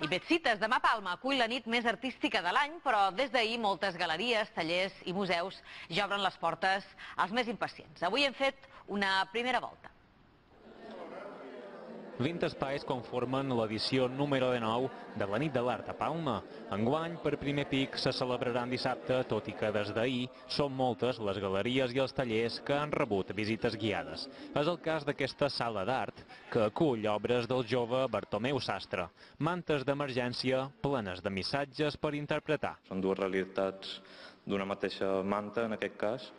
I Betsites, demà Palma acull la nit més artística de l'any, però des d'ahir moltes galeries, tallers i museus ja obren les portes als més impacients. Avui hem fet una primera volta. 20 espais conformen l'edició número 19 de la Nit de l'Art a Palma. Enguany, per primer pic, se celebraran dissabte, tot i que des d'ahir són moltes les galeries i els tallers que han rebut visites guiades. És el cas d'aquesta sala d'art, que acull obres del jove Bartomeu Sastre, mantes d'emergència plenes de missatges per interpretar. Són dues realitats d'una mateixa manta, en aquest cas,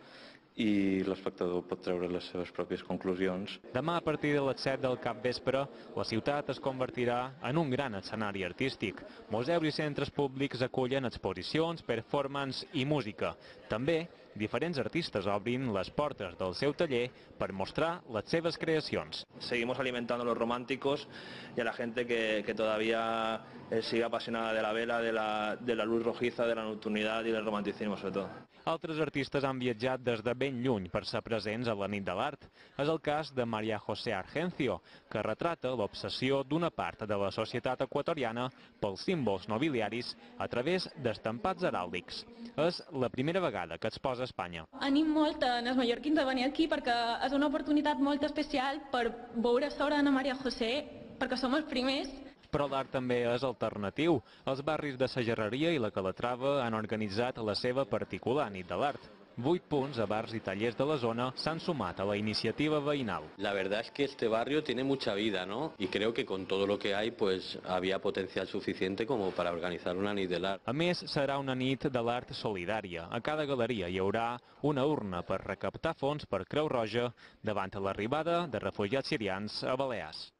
i l'espectador pot treure les seves pròpies conclusions. Demà, a partir de les 7 del capvespre, la ciutat es convertirà en un gran escenari artístic. Museus i centres públics acullen exposicions, performance i música. També, diferents artistes obrin les portes del seu taller per mostrar les seves creacions. Seguimos alimentando a los románticos y a la gente que todavía sigue apasionada de la vela, de la luz rojiza, de la nocturnidad y del romanticismo, sobre todo. Altres artistes han viatjat des de ben lluny per ser presents a la Nit de l'Art. És el cas de María José Argencio, que retrata l'obsessió d'una part de la societat equatoriana pels símbols nobiliaris a través d'estampats heràldics. És la primera vegada que exposa a Espanya. Anim molt en els mallorquins a venir aquí perquè és una oportunitat molt especial per veure l'obra d'Anna María José, perquè som els primers. Però l'art també és alternatiu. Els barris de Sagerreria i la Calatrava han organitzat la seva particular Nit de l'Art. 8 punts a bars i tallers de la zona s'han sumat a la iniciativa veïnal. La verdad es que este barrio tiene mucha vida, ¿no? Y creo que con todo lo que hay, pues había potencial suficiente como para organizar una nit de l'art. A més, serà una nit de l'art solidària. A cada galeria hi haurà una urna per recaptar fons per Creu Roja davant l'arribada de refugiats sirians a Balears.